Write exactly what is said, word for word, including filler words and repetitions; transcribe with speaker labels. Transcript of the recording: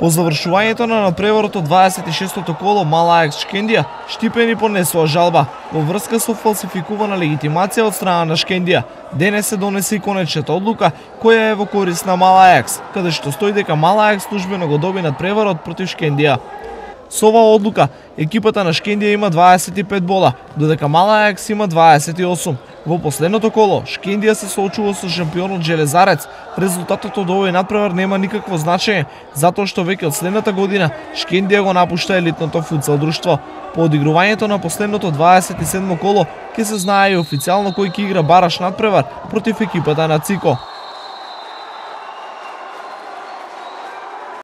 Speaker 1: По завршувањето на надпреварот од дваесет и шестото коло, Мала Аекс Шкендија Штипени понесува жалба во врска со фалсификувана легитимација од страна на Шкендија. Денес се донесе и конечната одлука која е во корист на Мала Аекс, каде што стои дека Мала Аекс службено го доби надпреварот против Шкендија. Со оваа одлука, екипата на Шкендија има дваесет и пет бола, додека Мала Аекс има дваесет и осум. Во последното коло, Шкендија се соочува со шампионот Железарец. Резултатот од овој надпревар нема никакво значење, затоа што веќе од следната година Шкендија го напушта елитното футсал друштво. По одигрувањето на последното дваесет и седмо коло, ќе се знае и официјално кој ќе игра бараш надпревар против екипата на Цико.